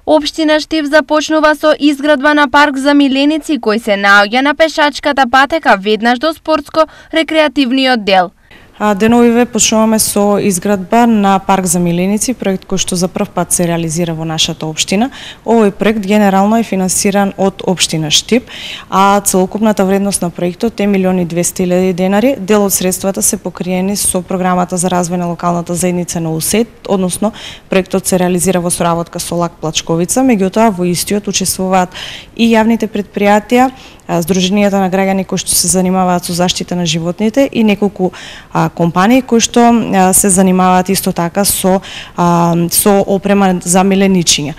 Општина Штип започнува со изградба на парк за миленици кој се наоѓа на пешачката патека веднаш до спортско-рекреативниот дел. Деновиве почнуваме со изградба на парк за миленици, проект кој што за прв пат се реализира во нашата општина. Овој проект генерално е финансиран од општина Штип, а целокупната вредност на проектот е 1.200.000 денари. Дел од средствата се покриени со програмата за развој на локалната заедница на УСЕТ, односно проектот се реализира во соработка со ЛАК Плачковица, меѓутоа во истиот учествуваат и јавните предпријатија, здруженијата на граѓани кои што се занимаваат со заштита на животните и неколку компании кои што се занимаваат исто така со опрема за миленичиња.